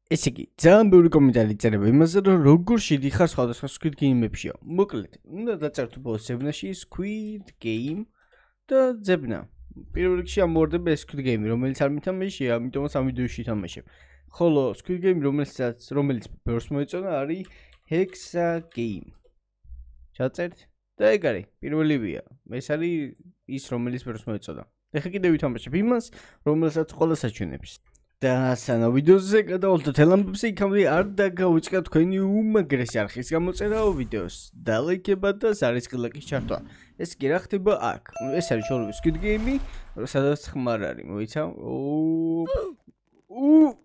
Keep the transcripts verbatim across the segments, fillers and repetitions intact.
ესე იგი, ძალიან ბევრი კომენტარი წერება იმაზე, რომ როგორ შედიხარ სხვადასხვა Squid Game-ებში. მოკლედ, უნდა დაწერთ ბოლოს ზებნაში Squid Game და ზებნა. პირველ რიგში ამოვარდება ეს Squid Game, რომელიც არ მითამაშია, ამიტომაც ამ ვიდეოში თამაშებ. ხოლო Squid Game, რომელსაც რომელიც ბევრს მოეწონა, არის Hexa Game. ჩაწერთ და ეგ არის, პირველივეა. ეს არის ის, რომელიც ბევრს მოეწონა. ეხლა კიდევ ვითამაშებ იმას, რომელსაც ყველას აჩვენებს. და სანამ ვიდეოზე გადავალთ თელ ამბებზე, იქამდე არ დაგავიწყდეთ თქვენი უმაგრესი არხის გამოწერაო ვიდეოს და ლაიქება და ზარისხი ლაიკის ჩართვა. ეს კი რა ხდება აქ. ეს არის ჩვენი Squid Game, სადაც ხმარ არის, მოიცა? უ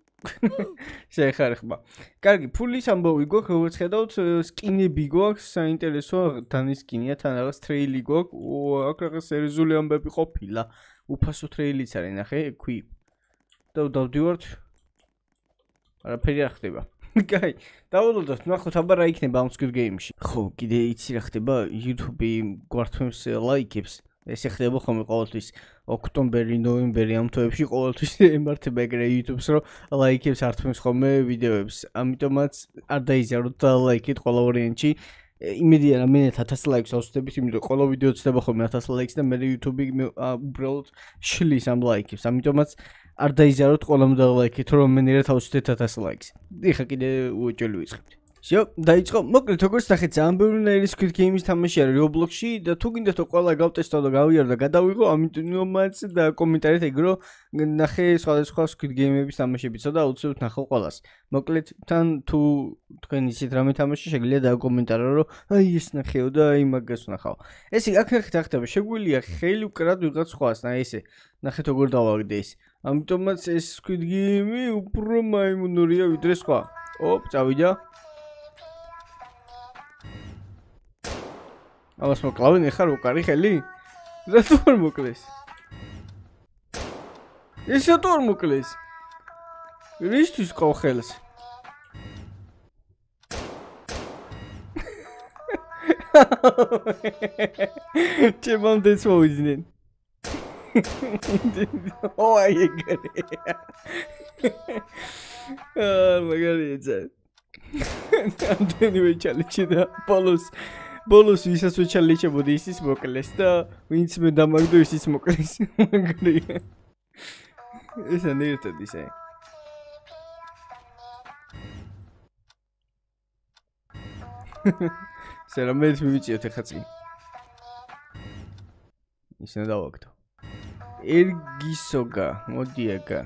შეეხარ ხმა. კარგი, ფულის ამბავი გვაქვს, როგორც ხედავთ, სკინები გვაქვს, საინტერესოა დანის სკინია, თან რაღაც ტრეილი გვაქვს. აქ რაღაც სერიოზული ამბები ყოფილა. უფასო ტრეილიც არის, ნახე, ქვი. და დავდივართ. არაფერი არ ხდება. კაი, დავალოდოთ, ნახოთ აბა რა იქნება ამ Squid Game-ში. ხო, კიდე იცი რა ხდება, YouTube გვართმევს ლაიქებს. ეს ხდება ხოლმე ყოველთვის ოქტომბერი, ნოემბერი ამ თვეებში ყოველთვის ემართება ეგრე YouTube-ს, რომ ლაიქებს ართმევს ხოლმე ვიდეოებს. ამიტომაც არ დაიზიაროთ და ლაიქით ყველა ვარიანტში. იმედია რა მე ათას ლაიქს ავსვდებით, იმიტომ ყველა ვიდეო ცდება ხოლმე ათას ლაიქს და მე YouTube უბრალოდ შლის ამ ლაიქებს. ამიტომაც არ დაიზიაროთ ყველამ დალაიქით, რომ მენერად ავსვდეთ ათას ლაიქს. ეხლა კიდე უეჭველი ვიწყებთ. შო, დაიწყო. მოკლედ, როგორც ნახეთ, ძალიან ბევრი Squid Game-ის თამაში არის Roblox-ში და თუ გინდათ რომ ყველა გავტესტო და გავიარო და გადავიღო, ამიტომაც და კომენტარით ეგრო ნახე სხვადასხვა Squid Game-ების თამაშებიც და აუცილებლად ნახო ყველას. მოკლედ, თან თუ თქვენ ისეთ რამე თამაში შეგიძლია დაგკომენტარო, რომ აი ეს ნახეო და აი მაგას ნახავ. ესე აქ ნახეთ რა ხდება, შეგვიძლია ხელი უკრად ვიღაც სხვას, და ესე ნახეთ როგორ დავაგდე ეს. ამიტომაც ეს Squid Game უფრო მაიმუნურია ვიდრე სხვა. ოპ, წავიდა. ამას მოკლავენ ეხლა უკარი ხელი? რატო არ მოკლეს? ეს რატო არ მოკლეს? რისთვის ყავ ხელს? ჩემამდეც მოვიძნენ. ო აი ეგრე. აა მაგარია. ამდენივე ჩალენჯი და ბოლოს ბოლოს ვისაც ვეჩალენჯებოდი ისიც მოკლეს და ვინც მე დამაგდო ისიც მოკლეს. მაგარია. ეს არ ერთად ისე. სერა მე მივიწიოთ ეხლა წინ. ისე დავაგდო. ერგისოგა, მოდი აგა.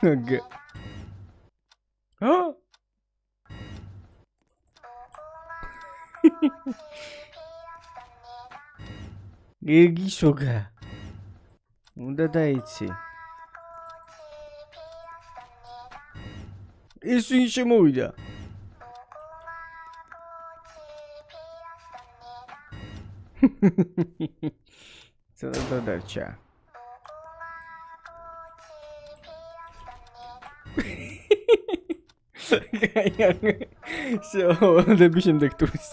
აგა. აა ერგისოგა. უნდა დაიცი. ეს ვინ შემოვიდა? ცოტა დარჩა. შო, დები შემდეგ ტურის.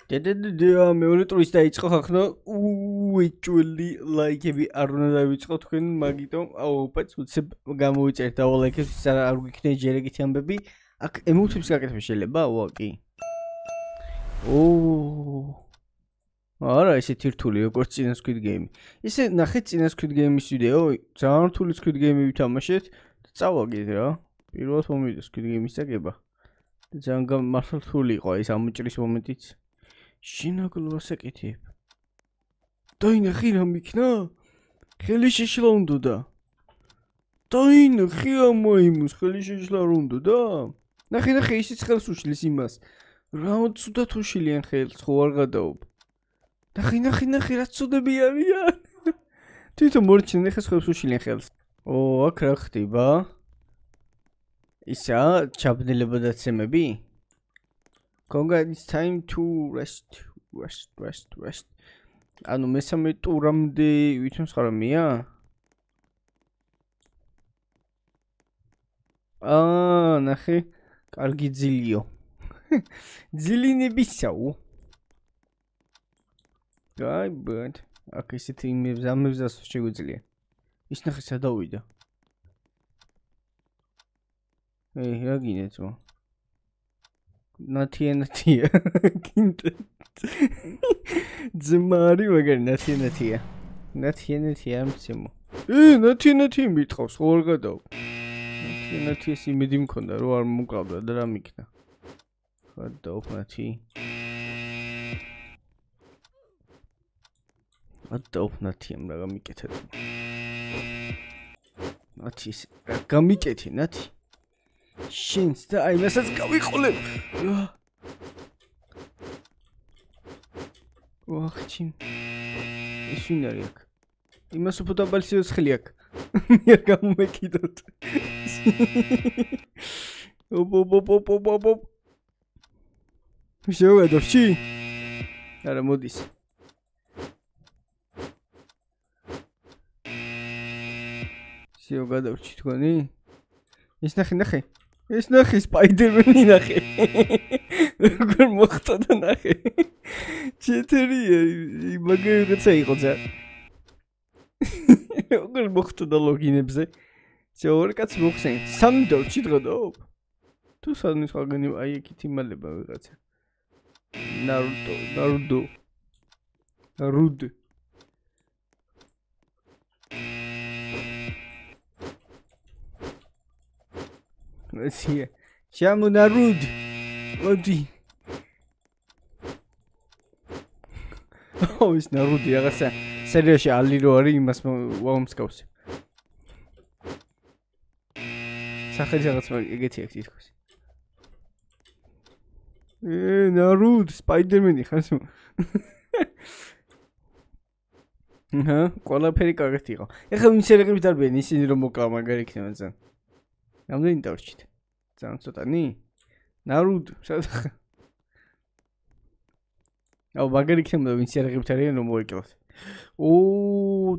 დედედეა მეორე ტურის დაიწყო ხახნო. უეჭველი ლაიქები არ უნდა დავიწყო თქვენ, მაგიტომ აუ პაც უცებ გამოვიწერთ და ლაიქებს არ გიქნე ჯერეგითი ამბები. აქ ემოციებს გაკეთება შეიძლება? ვა კი. ოო. არა, ესეთი რთული როგორც წინა Squid Game. ისე ნახეთ წინა Squid Game-ის ვიდეო, ძალიან რთული Squid Game-ი ვითამაშეთ და წავაგეთ რა. პირველად მომივიდა Squid Game-ის წაგება. და ძალიან მართლა რთული იყო ეს ამოჭრის მომენტიც. შინაგლო ასაკეთებ. დაინახი რა მიქნა? ხელი შეშლა უნდა. დაინახი ამაიმუს ხელი შეშლა რა უნდა. ნახე ნახე ისიც ხელს უშლის იმას. რა ცუდად უშილიან ხელს, ხო არ გადაობ. ნახე ნახე ნახე რა ცუდები არიან. თვითონ მორჩენ ხეს ხელს უშილიან ხელს. ო, აქ რა ხდება? ისა ჩაბნელება დაცემები? Conga, it's time to rest, rest, rest, rest. ანუ მესამე ტურამდე ვითომ ხარამია? აა, ნახე, კარგი ძილიო. ძილინებისაო. აი, ბად. აქ ისეთი იმებს ამებს შეგვიძლია. ის ნახე სადავიდა. ეი, რა გინდა ძმა? ნათია ნათია. გინდა. ძმა არის მაგარი ნათია ნათია. ნათია ნათია ამცემო. ე, ნათია ნათია მითხავს, ხო არ გადაო. ნათია ნათიას იმედი მქონდა, რომ არ მოკავდა და რა მიქნა. გადაო ნათი. გადაო ნათიამ რა გამიკეთა. ნათის რა გამიკეთე ნათი. შენს და აი მასაც გავიყოლებ. ვახჩი. ის ვინ არის აქ? იმას უფრო დაბალი სიცხლე აქ. მე არ გამომეკიდოთ. ოპ ოპ ოპ ოპ ოპ ოპ. შევედორში? არა მოდის. შევ გადავრჩი თქვენი? ის ნახე ნახე. ეს ნახე სპაიდერმენი ნახე. როგორ მოხდა და ნახე. ჩეთერია მაგარი რაღაცა იყო ძა. როგორ მოხდა და ლოგინებზე. ზეორ კაც მოხსენ. სამი დორჩი დღოდობ. თუ სამი სხვაგანი აი იქით იმალება ვიღაცა. ნარუტო, ნარუდო. ნარუდ. Россия. Чему народ? Води. Ой, народ, я гаса. Серьёзно, алиро ари имас ვამსკავსე. სახელი რაღაც ეგეთი აქვს თქოს. ე, народ, სპაიდერმენი ხარ? ჰა, ყველაფერი კარგად იყო. ეხლა ვინ სერიალები დარბიან ისინი რომ მოკლა მაგარი იქნება ძალიან. რამდენი დავრჩით? ძალიან ცოტანი? ნარუდ, სადახ. აუ მაგარი იქნება ვინ სერიალებით არიან რომ მოიკლოთ. ო,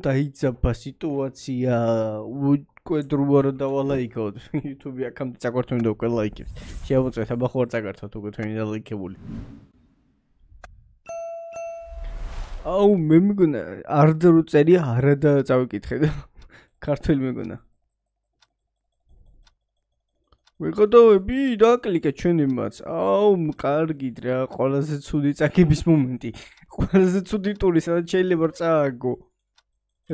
დაიძაბა სიტუაცია. უკვედრუა რა დავალაიქოთ. YouTube აქამდე წაგვართული და უკვე ლაიქებს. შევაწევთ, აბა ხო არ წაგართოთ უკვე თქვენი და ლაიქებული. აუ მე მეგონა არ დრო წერია არა და წავიკითხე და ქართველი მეგონა. ვიყოდოები დაკლიკე ჩვენი მაც. აუ კარგით რა, ყველაზე ცუდი წაგების მომენტი. ყველაზე ცუდი ტური, სადაც შეიძლება წააგო.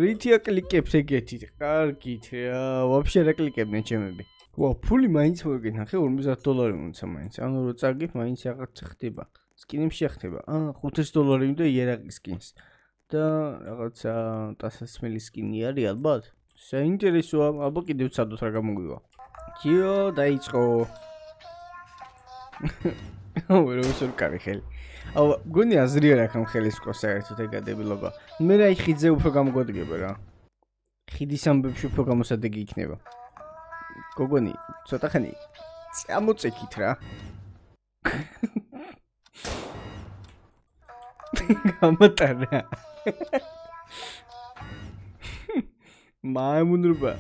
რითი აკლიკებს ეგეთი? კარგით რა, ვაფშე რა კლიკებდნენ ჩემები. ვა, ფული მაინც მოგეკითხა, ხე ორმოცდაათ დოლარი მომცა მაინც. ანუ რო წაგებ, მაინც რაღაც ხდება. სკინები შეხდება. აა ხუთი დოლარი და იერაკის სკინს. და რაღაცა ტასასმელის სკინი არის ალბათ. საინტერესოა, აბა კიდევ ცადოთ რა გამოგვივა. კიო დაიწყო. აუ რა ვსურ კარი ხელი. აუ გონი აზრი არ აქვს ხელის ყო საერთოდ ეგადებილობა. მე რა ხიძე უფრო გამოგვადგება რა. ხიდის ამბებში უფრო გამოსადეგი იქნება. გოგონი, ცოტა ხანი წამოწექით რა. გამოტანა. მაიმუნრბა.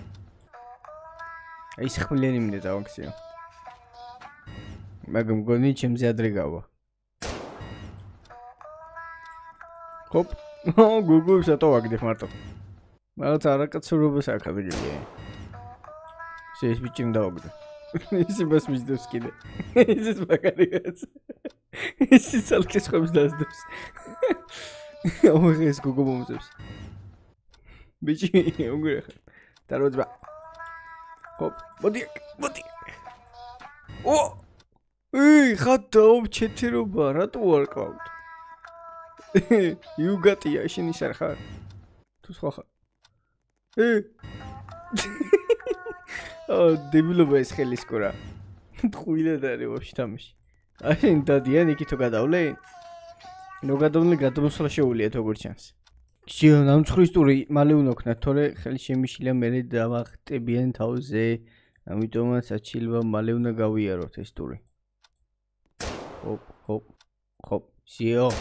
აი ხმლიანი მინდა დავაქციო. მაგამ გონი ჩემზე ადრე გავა. ჰოპ. ო გუგუ შეტო ვაგდებ მარტო. მაგაც არაკაცურობას აქვს ადგილი. შეის ბიჭიმ დავაგდე. ის იმას მისდევს კიდე. ის მაგარიაც. ის ცალკეს ხომს დასდევს. აუ ეს გუგუ მომწევს. ბიჭი უნგრე ხარ. დაროძბა. ჰოპ, მოდი, მოდი. ო! ეი, ხატო ჩეთერობა, რატო არ ყავთ? იუგატია, შენი სარ ხარ? თუ სხვა ხარ? ე! აა, დებილობა ეს ხელისკურა. ტყუილად არის ვაფშე თამაში. აი, დადიან იქითო გადავლე? ნუ გადავლე, გადმოსვლა შეუულია თოგორ ჩანს. შენ ამცხვრის ტური მალე უნოქნათ, თორე ხელი შემიშილია მე დავახტებიან თავზე. ამიტომაც აჩილვა მალე უნდა გავიაროთ ეს ტური. ჰოპ, ჰოპ, ჰოპ, შიო.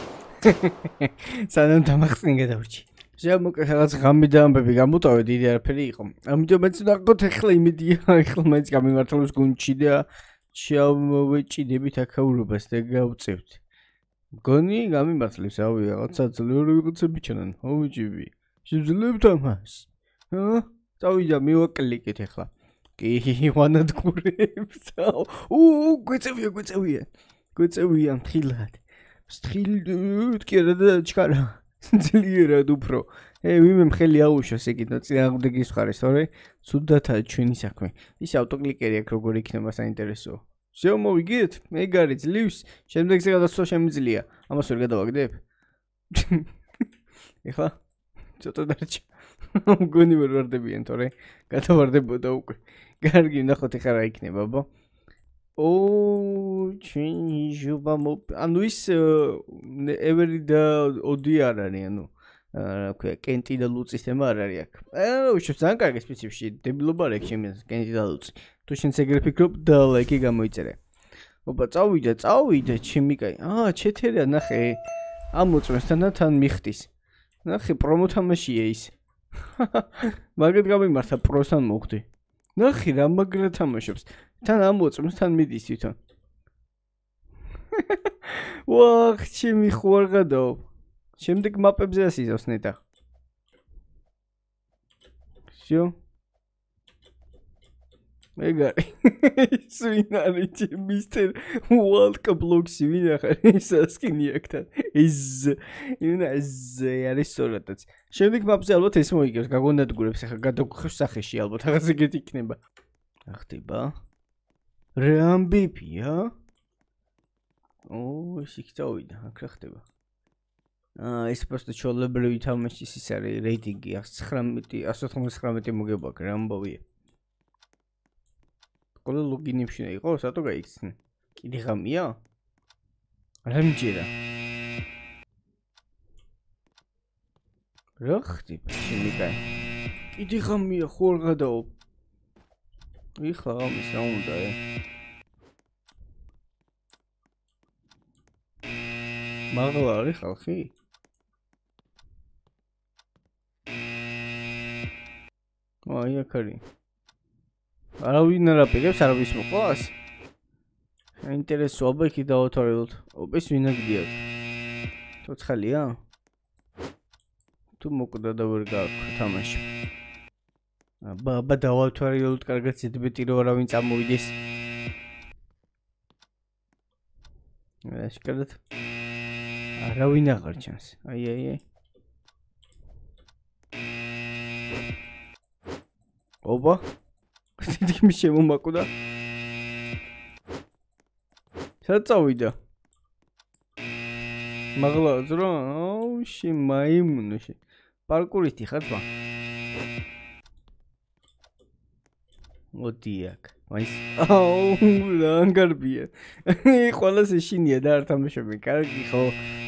სანამ დამახსენ გადავრჩი. შენ მოკე რაღაც ღამე და ამბები გამოტავე დიდი არაფერი იყო. ამიტომაც ნახოთ ახლა იმედია, ახლა მაინც გამიმართლოს გუნდში და ჩავეჭიდებით აქაურობას და გავწევთ. გონი გამიმართლებს, ავი რაღაცა ძლიერი ვიღაცები ჩანან. ოვიჯიბი. შეძლებთ ამას. ჰა? წავიდა მივაკლიკეთ ახლა. კი ვანადგურებს. უ გვეწევია, გვეწევია. გვეწევია მთილად. მთილად კი არა და ჩქარა. ძლიერად უფრო. ე ვიმე მხელი აუშოს ეგითო წინააღმდეგის მხარეს, თორე ცუდათაა ჩვენი საქმე. ის ავტოკლიკერი აქ როგორ იქნება საინტერესოა. შევ მოვიგეთ? ეგ არის ძლივს, შემდეგზე გადასვლა შემიძლია. ამას ვერ გადავაგდებ? ეხლა ცოტა დარჩა. მგონი ვერ ვარდებიან, თორე გადავარდებოდა უკვე. კარგი, ნახოთ ეხლა რა იქნება, ბო. ო, ჩვენი ჟობა მო ანუ ის ევერი და ოდი არ არის, ანუ რა ქვია, კენტი და ლუცის თემა არ არის აქ. აა, უშო ძალიან კარგი სპეციფიკში, დებილობა არ აქვს შემიძლია კენტი და ლუცი. თუ შენ ეგრე ფიქრობ და ლაიკი გამოიწერე. ოპა, წავიდა, წავიდა, ჩემი კაი. აა, ჩეთერია, ნახე. ამოწმესთან თან მიხდის. ნახე, პრომო თამაშია ის. მაგეთ გამიმართა პროსთან მოხდი. ნახე რა მაგრა თამაშობს. თან ამოწმეს, თან მიდის თვითონ. ვახ, ჩემი ხوار გადაო. შემდეგ მაპებზე ასიზავს ნეტა. შო. ეგარი. სვინ არის მისტერ Walker Blocks-ი ვინ ახარ ის სკინი აქთან. ის ინა ეს არის სწორადაც. შემდეგ მაპზე ალბათ ეს მოიგებს, გაგონადგურებს ახლა გადაგხევს სახეში ალბათ რაღაც ეგეთი იქნება. რა ხდება? რამბიპია? ო, ის იქ წავიდა, აქ რა ხდება? აა, ეს просто ჩოლებრივი თამაშის ის არის რეიტინგი εκατს ოცდათხმეტი მოგება აქ რა ამბავია. ყველა ლოგინი მშინა იყო, სათო გაიქცნე. კიდე ღამია? რა მიჯერა? რა ხდება? შემიკაი. კიდე ღამია ხო არ გადაო? იხა ამის რა უნდა ე? მაღლა არის ხალხი? აი აქ არის. არავინ არ აპირებს, არავის მოყვას? საინტერესოა, აბა იქი დავათვალოთ. ოპეს ვინ აგდია? ცოცხალია? თუ მოკვდა და ვერ გააქვს თამაში. აბა, აბა დავათვალოთ, კარგად ზედმეტი რომ არავინ წამოვიდეს. აშკარად. არავინ აღარ ჩანს. აი, აი, აი. ოპა თითქმის მის შემომაკვდა. სად წავიდა? მაღლა ზრო, აუ, შე მაიმუნში. პარკურისტი ხარ თვა? მოდი აქ. მაის. აუ, რა ანგარბია. ყველას ეშინია და არ თამაშობენ. კარგი ხო?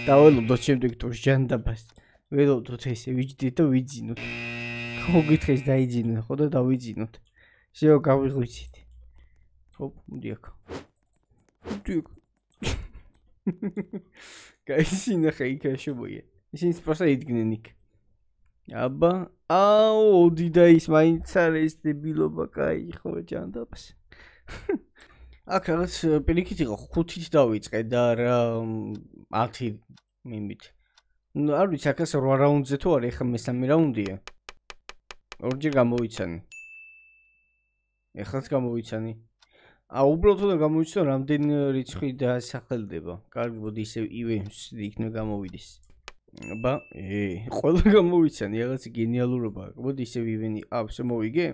დაველოდოთ შემდეგ ტურს ჯანდაბას. ველოდოთ ესე ვიჯდით და ვიძინოთ. ხო გითხეს დაიძინოთ, ხო და დავიძინოთ. შეო გავიღვიცით. ხო, მოდი აქ. მოდი აქ. გაისინახე იქ შუბოია. ისინი პროსტა იდგნენ იქ. აბა, აუ, ოდი და ის მაინც არის დებილობა, კაი, ხო ჯანდაბას. აქ რაღაც პირიქით იყო, ხუთით დავიწყე და რა ათი მიმით. ნუ არ ვიცი, აქ რვა რაუნდზე თუ არის, ეხლა მესამე რაუნდია. ორჯერ გამოვიცანი. ეხლაც გამოვიცანი. აა უბრალოდ უნდა გამოვიცნო რამდენი რიცხვი დასახელდება. კარგი, მოდი ისე ივენს იქნება გამოვიდეს. აბა, ე, ყველა გამოვიცანი, რაღაც გენიალურობა. მოდი ისე ივენი, აა, შე მოვიგე?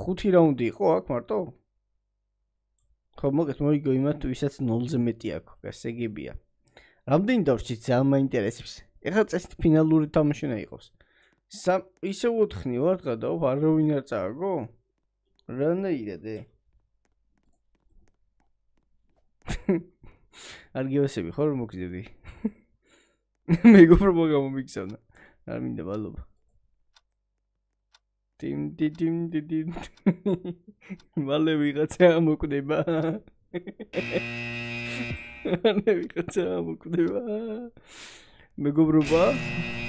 ხუთი რაუნდი იყო აქ მარტო? ხო, მოგეთ მოიგო იმათ, ვისაც ნოლზე მეტი აქვს, გასაგებია. რამდენი დავშით ძალიან მაინტერესებს. ეხლა წესით ფინალური თამაში უნდა იყოს. სამ ისე ოთხნი ვარ გადაო, არავინ არ წააგო? რანაირად ე? არ გიოსები ხო რომ მოგზები? მეგობრებო გამომიგზავნა. არ მინდა მადლობა. ტიმ ტიმ ტიმ მალე ვიღაცა მოკვდება. მალე ვიღაცა მოკვდება. მეგობრობა?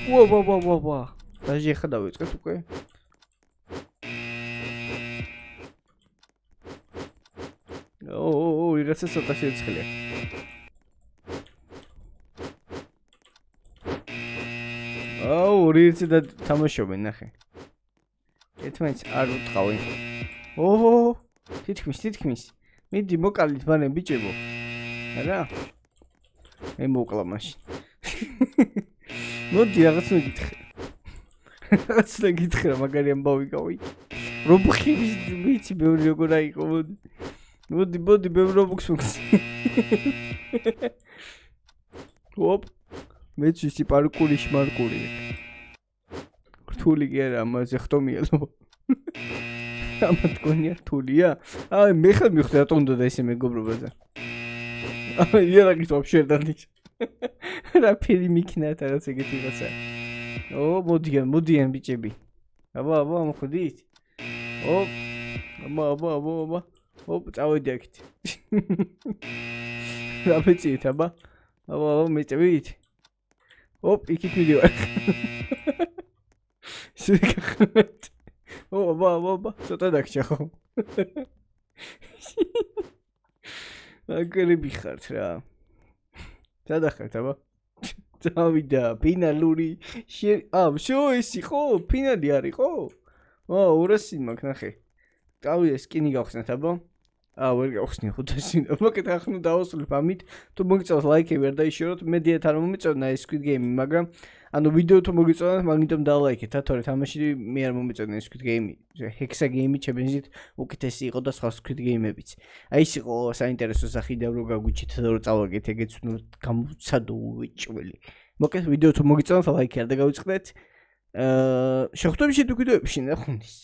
ვა ვა ვა ვა ვა. დაჟე ხა დავიწყეთ უკვე. ო, ვიღაცა ცოტა შეწყლია. აუ, რიცი და თამაშობენ, ნახე. ერთმანეთს არ უტყავენ. ოჰო, თითქმის, თითქმის. მიდი მოკალით მანე ბიჭებო. არა? მე მოკლა მაშინ. მოდი რაღაც მეკითხე. რაღაც მეკითხე რა მაგარი ამბავი გავი. რობუხის ვიცი ბევრი როგორ აიყო მოდი. მოდი, მოდი ბევრი რობუქს მოგს. ოპ. მეც ისი პარკური შმარკური. რთული კი არა, ამაზე ხტომია ლო. ამა თქვენია რთულია? აი მე ხელ მივხვდი რატომ უნდა ესე მეგობრობაზე. აი იარაღით ვაფშე დანიჭ. რა ფილი მიქნათ რაღაც ეგეთი რაღაცა. ო მოდიან, მოდიან ბიჭები. აბა, აბა, მოხდით? ო აბა, აბა, აბა, აბა. ო წავედი აქეთ. რა მეწიეთ, აბა? აბა, აბა, მეწევით? ოპ, იქით მიდივარ. შეგახმეთ. ო აბა, აბა, აბა, ცოტა დაგჭა ხო? აგერები ხართ რა. სადახართ აბა? დავიდა, ფინალური ა, შო ისი ხო? ფინალი არის ხო? ო, ორასი მაქვს ნახე. დავიდა სკინი გავხსნათ აბა? ა, ვერ გავხსნი ხუთასი. მოკეთ ახლა დავასრულებ ამით. თუ მოგიწევთ ლაიქები არ დაიშოროთ, მე დიეთ არ მომიწევნა ეს Squid Game, მაგრამ ანუ ვიდეო თუ მოგიწევთ, მაგიტომ დალაიქეთ, თორე თამაში მე არ მომიწევნა ეს Squid Game. Hexa Game ჩემიზით უკეთესი იყო და სხვა Squid Game-ებიც. აი ეს იყო საინტერესო სახიდა რო გაგვიჩით და რო წავაგეთ ეგეც ნუ გამოცადო უეჭველი. მოკეთ ვიდეო თუ მოგიწევთ, ლაიქი არ დაგავიწყდეთ. აა შეხვდებით შეგვიდეებში ნახუნის.